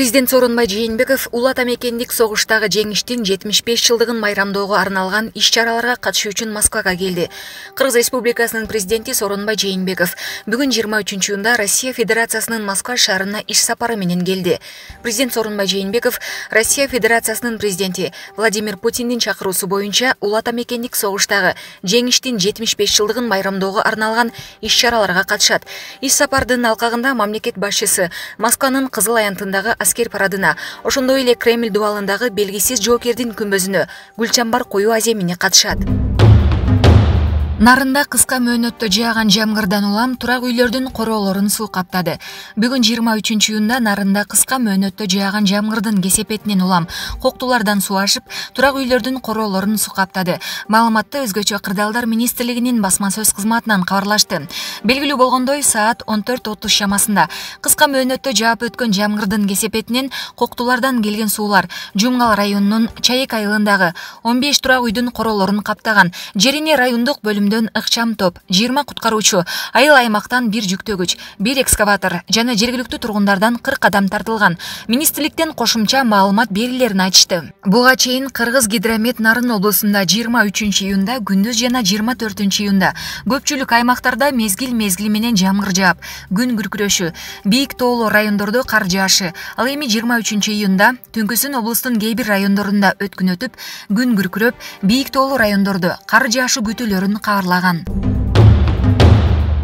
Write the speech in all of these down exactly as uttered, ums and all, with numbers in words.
Президент Сооронбай Жээнбеков Улуу Ата Мекендик согуштагы жеңиштин жетимиш беш жылдыгын майрамдоого арналган иш-чараларга катышуу үчүн Москвага келди. Кыргыз Республикасынын президенти Сооронбай Жээнбеков бүгүн жыйырма үчүнчү июнда Россия Федерациясынын Москва шаарына иш сапары менен келди. Президент Сооронбай Жээнбеков Россия Федерациясынын президенти Владимир Путиндин чакыруусу боюнча Улуу Ата Мекендик согуштагы жеңиштин жетимиш беш жылдыгын майрамдоого арналган иш-чараларга катышат. Иш сапардын алкагында мамлекет башчысы Москванын Кызыл аянтындагы аскер парадына, ошондой эле Кремль дубалындагы белгисиз жоокердин күмбөзүнө гүлчамбар коюу аземине катышат. Нарында кыска мөөнөттө жааган жамгырдан улам турак үйлөрдүн короолорун суу каптады. Бүгүн жыйырма үчүнчү июнда Нарында кыска мөөнөттө жааган жамгырдын кесепетинен улам коктулардан суу ашып, турак үйлөрдүн короолорун суу каптады. Маалыматты Өзгөчө кырдаалдар министрлигинин басма сөз кызматынан кабарлашты. Белгилүү болгондой, саат он төрт отуз шамасында кыска мөөнөттө жаап өткөн жамгырдын кесепетинен коктулардан келген суулар Жумгал районунун Чайек айылындагы он беш турак үйдүн короолорун каптаган. Жерине райондук бөлүм ыкчам топ, жыйырма куткаруучу, айыл аймактан бир жүктөгүч, бир экскаватор жана жергиликтүү тургундардан кырк адам тартылган. Министрликтен кошумча маалымат берилерин айтышты. Буга чейин Кыргыз Гидромет Нарын облусунда жыйырма үчүнчү июнда, күндүз жана жыйырма төртүнчү июнда көпчүлүк аймактарда мезгил мезгили менен жамгыр жаап, күн күркүрөшү, бийик тоолуу райондордо кар жаашы. Ал эми жыйырма үчүнчү июнда түнкүсүн облустун кээ бир райондорунда өткүн өтүп, күн күркүрөп, бийик тоолуу райондордо кар жаашы күтүлөрүн кабарлаган.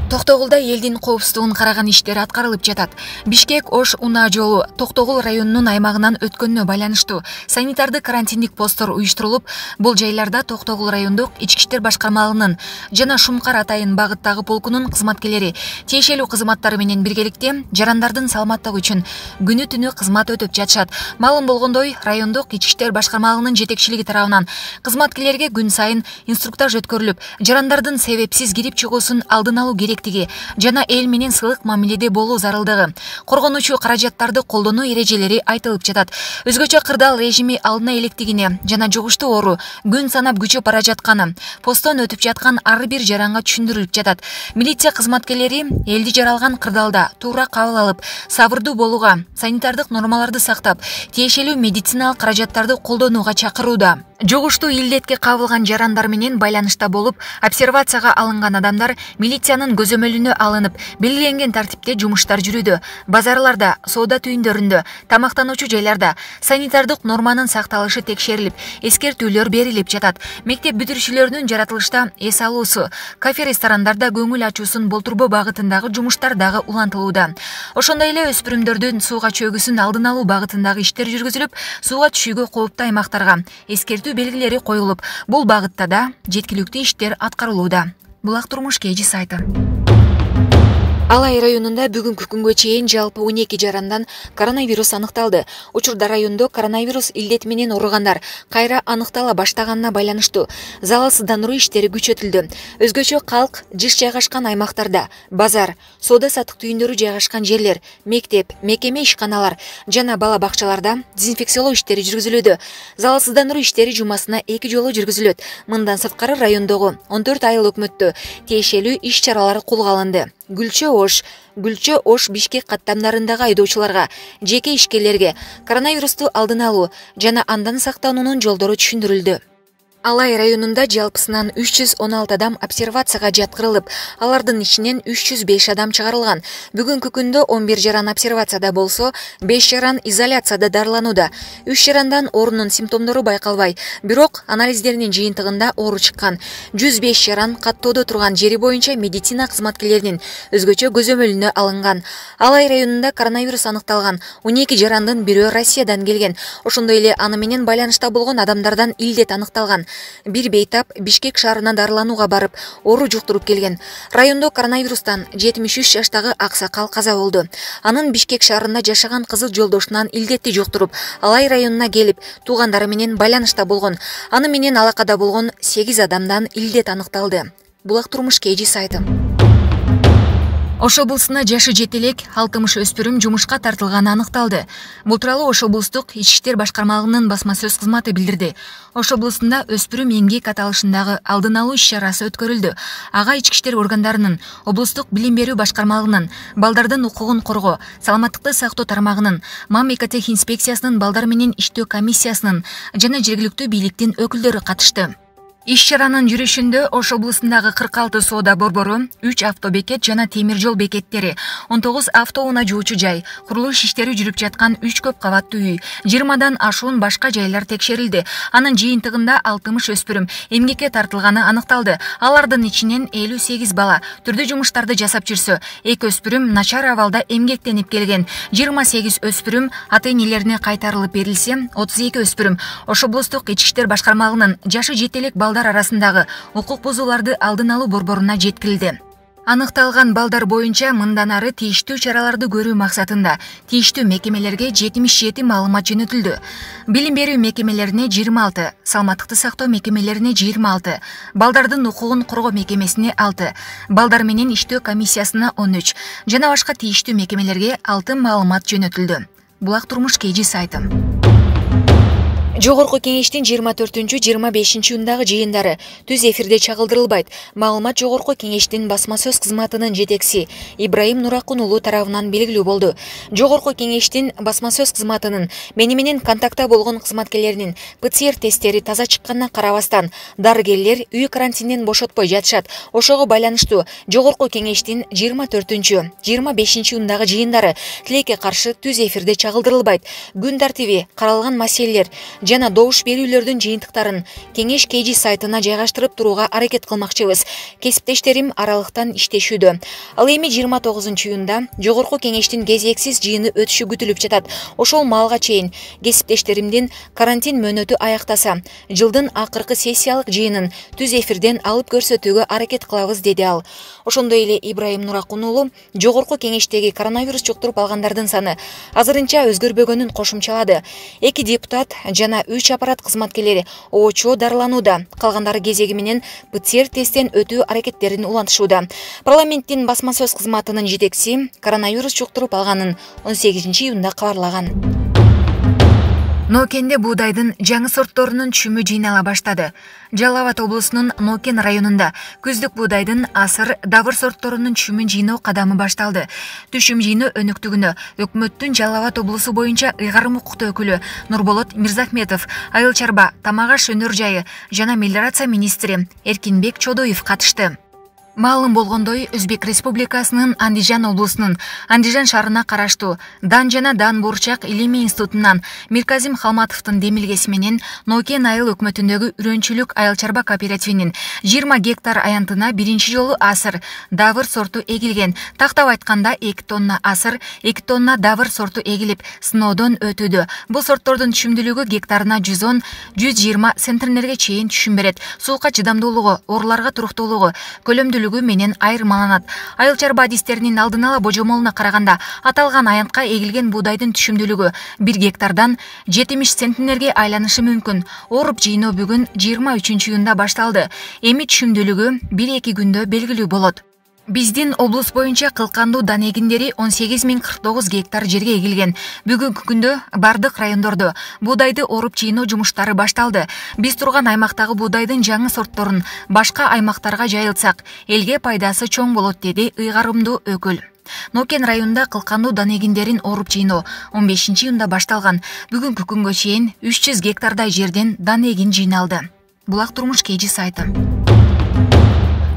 Токтогулда элдин коопсуздугун караган иштер аткарылып жатат. Бишкек-Ош унаа жолу Токтогул районунун аймагынан өткөнүнө байланыштуу санитардык карантиндик посттор уюштурулуп, бул жайларда Токтогул райондук ички иштер башкармалыгынын жана Шумкар Атайын багыттагы полкунун кызматкерлери тиешелүү кызматтары менен биргеликте жарандардын саламаттыгы үчүн күнү түнү кызмат өтүп жатышат. Маалым болгондой, райондук ички иштер башкармалыгынын жетекчилиги тарабынан кызматкерлерге күн сайын инструктаж өткөрүлүп, жарандардын себепсиз кирип чыгуусун алдын алуу керек жана эл менен сылык мамиледе болуу зарылдыгы, коргонуучу каражаттарды колдонуу эрежелери айтылып жатат. Өзгөчө кырдаал режими алдына электигине жана жугуштуу оору күн санап күчөп бара жатканы посттон өтүп жаткан ар бир жаранга түшүндүрүлүп жатат. Милиция кызматкерлери элди жаралган кырдаалда туура кабыл алып, сабырдуу болууга, санитардык нормаларды сактап, тиешелүү медициналык каражаттарды колдонууга чакырууда. Жугуштуу илдетке кабылган жарандар менен байланышта болуп, обсервацияга алынган адамдар милициянын көзөмөлүнө алынып, белгиленген тартипте жумуштар жүрүүдө. Базарларда, соода түйүндөрүндө, тамактануучу жайларда санитардык норманын сакталышы текшерилип, эскертүүлөр берилип жатат. Мектеп бүтүрүүчүлөрүнүн жаратылышта эс алуусу, кафе-ресторандарда көңүл ачуусун болтурбоо багытындагы жумуштар дагы улантылууда. Ошондой эле өспүрүмдөрдүн сууга чөгүүсүн алдын алуу багытындагы иштер жүргүзүлүп, сууга түшүүгө кооптуу аймактарга эскертүү белгилери коюлуп, бул багытта да жеткиликтүү иштер аткарылууда. Булак турмуш кей жи сайты. Алай районунда бүгүнкү күнгө чейин жалпы он эки жарандан коронавирус аныкталды. Учурда райондо коронавирус илдети менен ооругандар кайра аныктала баштаганына байланыштуу залалсыздандыруу иштери күчөтүлдү. Өзгөчө калк жыш жайгашкан аймактарда базар, соода-саттык түйүндөрү жайгашкан жерлер, мектеп, мекеме ишканалар жана бала бакчаларда дезинфекциялоо иштери жүргүзүлүүдө. Залалсыздандыруу иштери жумасына эки жолу жүргүзүлөт. Мындан сырткары райондогу он төрт айыл өкмөттө тиешелүү иш-чаралар колго алынды. Гүлчө-Ош, Гүлчө-Ош Бишкек каттамдарындагы айдоочуларга, жеке ишкерлерге коронавирусту алдын алуу жана андан сактануунун жолдору түшүндүрүлдү. Алай районунда жалпысынан үч жүз он алты адам обсервацияга жаткырылып, алардын ичинен үч жүз беш адам чыгарылган. Бүгүнкү күндө он бир жаран обсервацияда болсо, беш жаран изоляцияда дарыланууда. үч жарандан оорунун симптомдору байкалбай, бирок анализдеринин жыйынтыгында оору чыккан. жүз беш жаран каттоодо турган жери боюнча медицина кызматкерлеринин өзгөчө көзөмөлүнө алынган. Алай районунда коронавирус аныкталган он эки жарандын бирөө Россиядан келген. Ошондой эле аны менен байланышта болгон адамдардан илдет аныкталган. Бир бейтап Бишкек шаарына дарыланууга барып, оору жуктуруп келген. Райондо коронавирустан жетимиш үч жаштагы аксакал каза болду. Анын Бишкек шаарында жашаган кызыл жолдошунан илдетти жуктуруп, Алай районуна келип, туугандары менен байланышта болгон. Аны менен алакада болгон сегиз адамдан илдет аныкталды. Булак турмуш кей жи сайты. Ош облусуна жашы жете элек алтымыш өспүрүм жумушка тартылганы аныкталды. Бул тууралуу Ош облустук ички иштер башкармалыгынын басма сөз кызматы билдирди. Ош облусунда өспүрүм эмгек аталышындагы алдын алуу иш-чарасы өткөрүлдү. Ага ички иштер органдарынын, облустук билим берүү башкармалыгынын, балдардын укугун коргоо, саламаттыкты сактоо тармагынын, мамлекеттик инспекциясынын балдар менен иштөө комиссиясынын жана жергиликтүү бийликтин өкүлдөрү катышты. Иш-чаранын жүрүшүндө Ош облусундагы кырк алты соода борбору, үч автобекет жана темир жол бекеттери, он тогуз автоунаа жуучу жай, курулуш иштери жүрүп жаткан үч көп кабаттуу үй, жыйырмадан ашуун башка жайлар текшерилди. Анын жыйынтыгында алтымыш өспүрүм эмгекке тартылганы аныкталды. Алардын ичинен элүү сегиз бала түрдүү жумуштарды жасап жүрсө, эки өспүрүм начар абалда эмгектенип келген, жыйырма сегиз өспүрүм ата-энелерине кайтарылып берилсе, отуз эки өспүрүм Ош облустук ички иштер башкармалыгынын жашы жете элек балдар арасындагы укук бузууларды алдын алуу борборуна жеткирилди. Аныкталган балдар боюнча мындан ары тийиштүү чараларды көрүү максатында тийиштүү мекемелерге жетимиш жети маалымат жөнөтүлдү. Билим берүү мекемелерине жыйырма алты, саламаттыкты сактоо мекемелерине жыйырма алты, балдардын укугун коргоо мекемесине алты, балдар менен иштөө комиссиясына он үч жана башка тийиштүү мекемелерге алты маалымат жөнөтүлдү. Булак турмуш kg сайты. Жогорку кеңештин жыйырма төртүнчү жыйырма бешинчи июндагы жыйындары түз эфирде чагылдырылбайт. Маалымат Жогорку кеңештин басма сөз кызматынын жетекчиси Ибраим Нуракун уулу тарабынан белгилүү болду. Жогорку кеңештин басма сөз кызматынын мени менен контактта болгон кызматкерлеринин пэ цэ эр тесттери таза чыкканына карабастан, дарыгерлер үй карантинден бошотпой жатышат. Ошого байланыштуу Жогорку кеңештин жыйырма төртүнчү жыйырма бешинчи июндагы жыйындары тилекке каршы түз эфирде чагылдырылбайт. Күн тартиби, каралган маселелер жана добуш берүүлөрдүн жыйынтыктарын кеңеш kg сайтына жайгаштырып турууга аракет кылмакчыбыз. Кесиптештерим аралыктан иштешүүдө. Ал эми жыйырма тогузунчу июнда Жогорку кеңештин кезексиз жыйыны өтүшү күтүлүп жатат. Ошол маалга чейин кесиптештеримдин карантин мөөнөтү аяктаса, жылдын акыркы сессиялык жыйынын түз эфирден алып көрсөтүүгө аракет кылабыз, деди ал. Ошондой эле Ибраим Нуракун уулу Жогорку кеңештеги коронавирус жұктуруп алгандардын саны азырынча өзгөрбөгөнүн кошумчалады. Эки депутат жана үч аппарат кызматкерлери оочо дарыланууда. Калгандары кезеги менен пэ цэ эр тесттен өтүү аракеттерин улантышууда. Парламенттин басма сөз кызматынын жетекчиси коронавирус жұктуруп алганын он сегизинчи июнда кабарлаган. Ноокенде буудайдын жаңы сортторунун түшүмү жыйнала баштады. Жалал Абад облусунун Ноокен районунда күздүк буудайдын асыр, давыр сортторунун түшүмүн жыйноо кадамы башталды. Түшүм жыйноо өнүктүгүнө өкмөттүн Жалал Абад облусу боюнча ыйгарым укуктуу өкүлү Нурболот Мирзахметов, айыл чарба, тамак аш өнөр жайы жана мелиорация министри Эркинбек Чодоев катышты. Маалым болгондой, Өзбек Республикасынын Андижан облусунун Андижан шаарына караштуу Дан жана Дан Бурчак илимий институтунан Мирказим Халматовдун демилгеси менен Ноокен айыл өкмөтүндөгү үрөнчүлүк айыл чарба кооперативинин жыйырма гектар аянтына биринчи жолу асыр, давыр сорту эгилген. Тактап айтканда эки тонна асыр, эки тонна давыр сорту эгилип, сыноодон өтүүдө. Бул сорттордун түшүмдүүлүгү гектарына жүз он — жүз жыйырма центнерге чейин түшүм берет. Суукка чыдамдуулугу, ооруларга туруктуулугу, көлөмдүүлүгү менен айырмаланат. Айыл чарба адистеринин алдын ала божомолуна караганда, аталган аянтка эгилген буудайдын түшүмдүүлүгү бир гектардан жетимиш центнерге айланышы мүмкүн. Оруп жыйноо бүгүн жыйырма үчүнчү июнда башталды. Эми түшүмдүүлүгү бир эки күндө белгилүү болот. Биздин облус боюнча кылкандуу дан эгиндери он сегиз миң кырк тогуз гектар жерге эгилген. Бүгүнкү күндө бардык райондордо буудайды оруп жыйноо жумуштары башталды. Биз турган аймактагы буудайдын жаңы сортторун башка аймактарга жайылтсак, элге пайдасы чоң болот, деди ыйгарымдуу өкүл. Ноокен районунда кылкандуу дан эгиндерин оруп жыйноо он бешинчи июнда башталган. Бүгүнкү күнгө чейин үч жүз гектардай жерден дан эгин жыйналды. Булак турмуш kg сайты.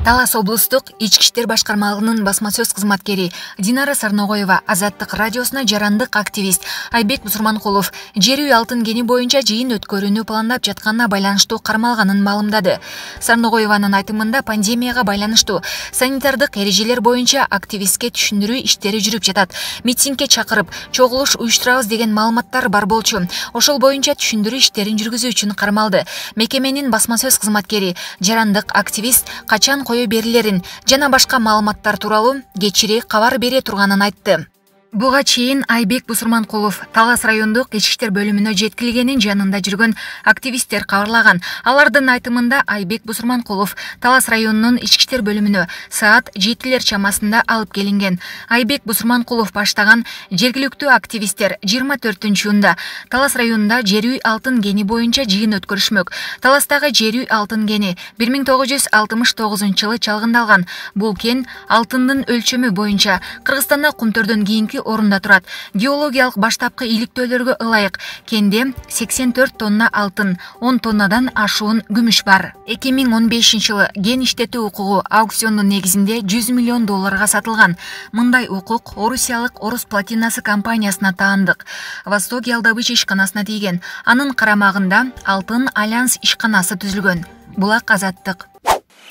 Талас облустук ички иштер башкармалыгынын басма сөз кызматкери Динара Сарногоева Азаттык радиосуна жарандык активист Айбек Бусурманкулов жер үй алтын кени боюнча жыйын өткөрүүнү пландап жатканына байланыштуу кармалганын маалымдады. Сарногоеванын айтымында пандемияга байланыштуу санитардык эрежелер боюнча активистке түшүндүрүү иштери жүрүп жатат. Митингге чакырып, чогулуш уюштурабыз деген маалыматтар бар болчу. Ошол боюнча түшүндүрүү иштерин жүргүзүү үчүн кармалды. Мекеменин басма сөз кызматкери жарандык активист качан кое берилерин жана башка маалыматтар тууралуу кечири кабар бере турганын айтты. Буга чейин Айбек Бусурманкулов Талас райондук ички иштер бөлүмүнө жеткилигенин жанында жүргөн активисттер кабарлаган. Алардын айтымында Айбек Бусурманкулов Талас районунун ички иштер бөлүмүнө саат жетилер чамасында алып келинген. Айбек Бусурманкулов баштаган жергиликтүү активисттер жыйырма төртүнчү июнда Талас районунда жер үй алтын кени боюнча жыйын өткөрүшмөк. Таластагы жер үй алтын кени бир миң тогуз жүз алтымыш тогузунчу жылы чалгындалган. Бул кен алтындын өлчөмү боюнча Кыргызстанда кумтөрдөн кийинки орунда турат. Геологиялык баштапкы иликтөөлөргө ылайык кенде сексен төрт тонна алтын, он тоннадан ашуун күмүш бар. эки миң он бешинчи жылы кен иштетүү укугу аукциондун негизинде жүз миллион долларга сатылган. Мындай укук Орусиялык Орус платинасы компаниясына таандык. Восток Ялдабыч ишканасына тийген. Анын карамагында Алтын Альянс ишканасы түзүлгөн. Булак Азаттык.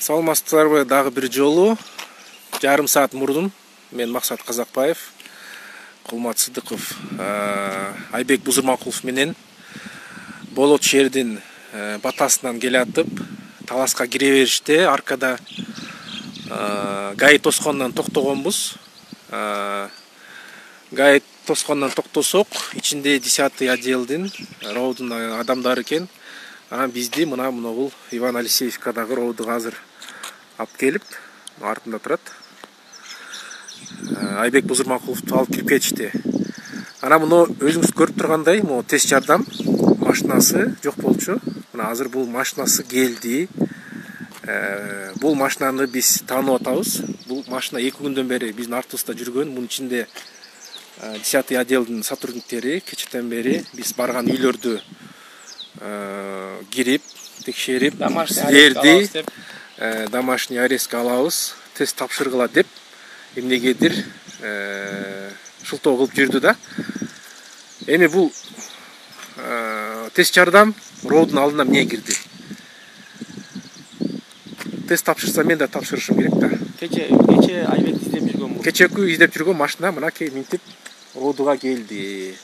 Саламатсыздарбы, дагы бир жолу жарым саат мурдун мен Максат Казакбаев, Кулмат Сыдыков, Айбек Бусурманкулов менен Болот шээрдин батасынан келатып, Таласка кире бериште аркада ГАИ тоскондон токтогонбуз. ГАИ тоскондон токтосок, ичинде десятый отделдин роудун адамдары экен. Анан бизди мына могул Иван Алексеевкадагы роудуга азыр алып келип, артында турат. Айбек Бусурманкуловду алып кирип кетишти. Ана муну өзүңүз көрүп тургандай, могу тест жардам машинасы жок болчу. Мына азыр бул машинасы келди. Бул машинаны биз таанып атабыз. Бул машина эки күндөн бери биздин артыбызда жүргөн. Мунун ичинде десятый отделдин сотрудниктери кечэтен бери биз барган үйлөрдү кирип, текшерип, силерди домашний арестке алабыз, тест тапшыргыла деп эмнегедир шылтоо кылып жүрдү да. Эми бул тест жардам роудун алдына эмне кирди? Тест тапшырса мен да тапшырышым керек да. Кече кече Айбек издеп жүргөн бул. Кечеки издеп жүргөн машина мынакей минтип роудуга келди.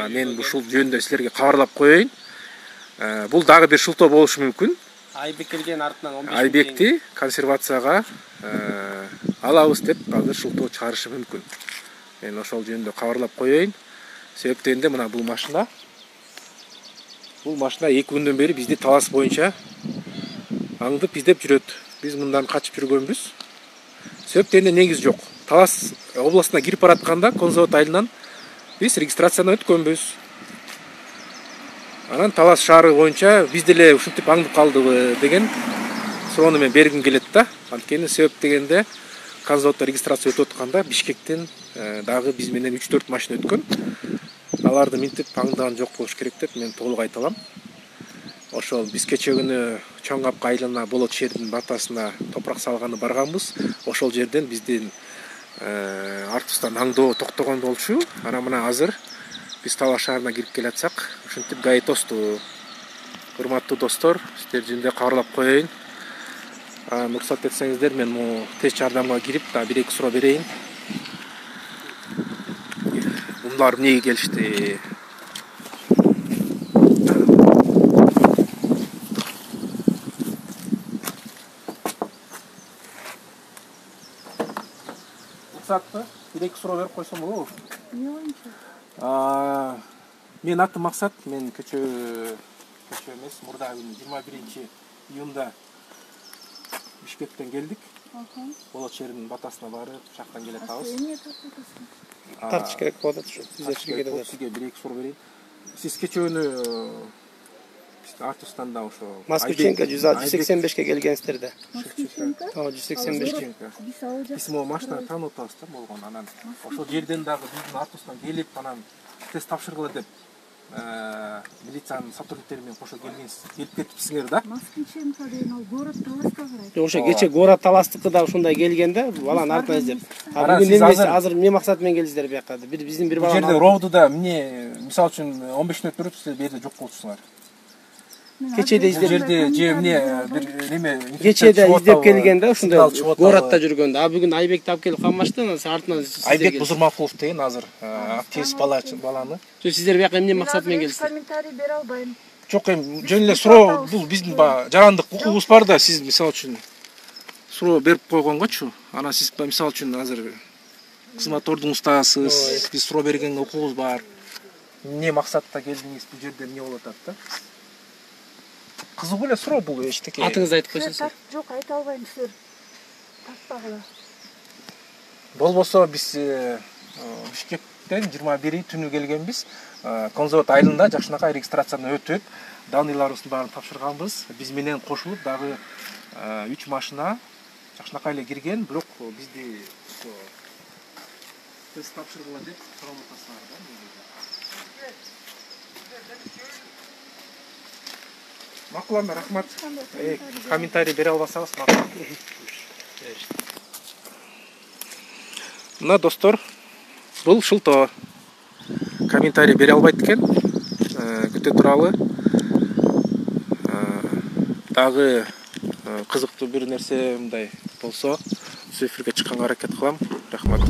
Мен ушул жөнүндө силерге кабарлап коеюн. Бул дагы бир шылтоо болушу мүмкүн. Айбек келген артынан он беш Айбекти консервацияга алабыз деп азыр шылтоо чыгарышы мүмкүн. Мен ошол жөнүндө кабарлап коеюн. Себеп дегенде мына бул машина бул машина эки күндөн бери бизди Талас боюнча аңдып издеп жүрөт. Биз мындан качып жүргөнбүз. Себеп дегенде негиз жок. Талас областына кирип баратканда Конзавод айылынан биз регистрациядан өткөнбүз. Анан Талас шаары боюнча биз деле ушинтип аңдып калдыбы деген суроону мен бергим келет да. Анткени себеп дегенде Конзаводдо регистрация өтүп атканда Бишкектен дагы биз менен үч төрт машина өткөн. Аларды минтип аңдаган жок болуш керек деп мен толук айта алам. Ошол биз кече күнү Чоң Капка айылына Болот шээрдин батасына топурак салганы барганбыз. Ошол жерден биздин артыбыздан аңдоо токтогон болчу. Анан мына азыр биз Талас шаарына кирип келатсак, ушинтип ГАИ тосту. Урматтуу достор, сиздер жөнүндө кабарлап коеюн. Уруксат этсеңиздер, мен могу тест жардамга кирип, да бир эки суроо берейин. Булар эмнеге келишти? Уруксатпы? бир эки суроо берип койсом болобу? Не боюнча? Мен атым Максат, мен көчө көчө эмес, мурда күнү жыйырма биринчи июнда Бишкектен келдик. Болот шээринин батасына барып, жактан келе атабыз. Эмне тартасың? Тартыш керек болуп атат ушу. Сиздерчи келет. Сизге бир эки суроо берейин. Сиз кече күнү биздин артыбыздан да ошо Москвиченко жүз сексен бешке келгенсиздер да. Москвиченко? Ооба, жүз сексен бешке. Биз ал жакта. Биз могу машинаны таанып атабыз да болгон. Анан ошол жерден дагы биздин артыбыздан келип, анан тест тапшыргыла деп милициянын сотрудниктери менен кошо келгенсиз, келип кетипсиңер да. Москвиченко деген ал город Таласка карайт. Ошо кече город Таластыкы да ушундай келген да, баланын артынан издеп. А бүгүн эмес азыр эмне максат менен келдиңиздер бияка? Бир биздин бир баланы. Бул жерде роудуда эмне, мисалы үчүн он беш мүнөт туруп, сиздер бул жерде жок болчусуңар. Кечеде издеп жерде же эмне бир неме кечеде издеп келген да, ушундай городто жүргөндө. А бүгүн Айбекти алып келип калмашты, анан артынан Айбек Бусурманкулов деген азыр активист баланы. Сиздер бияка эмне максат менен келдиңиздер? Комментарий бере албайм. Жок, эми жөн эле суроо, бул биздин жарандык укугубуз бар да, сиз мисалы үчүн суроо берип койгонгочу, анан сиз мисалы үчүн азыр кызматордун устаасыз, биз суроо берген окуубуз бар. Эмне максатта келдиңиз, бул жерде эмне болуп атат да? Кызыгуу эле суроо бул эчтеке. Атыңызды айтып койсоңуз. Жок, айта албайм, сиздер тартпагыла. Болбосо биз Бишкектен жыйырма бiri түнү келгенбиз. Конзавод айылында жакшынакай регистрациядан өтүп, данныйларыбыздын баарын тапшырганбыз. Биз менен кошулуп дагы үч машина жакшынакай эле кирген, бирок бизди тест тапшыргыла деп сурап атасыңар да. Макул анда, рахмат. Комментарий бере албасаңыз макул. Мына достор, бул шылтоо. Комментарий бере албайт экен. Күтө туралы. Дагы кызыктуу бир нерсе мындай болсо, сөз эфирге чыкканга аракет кылам. Рахмат.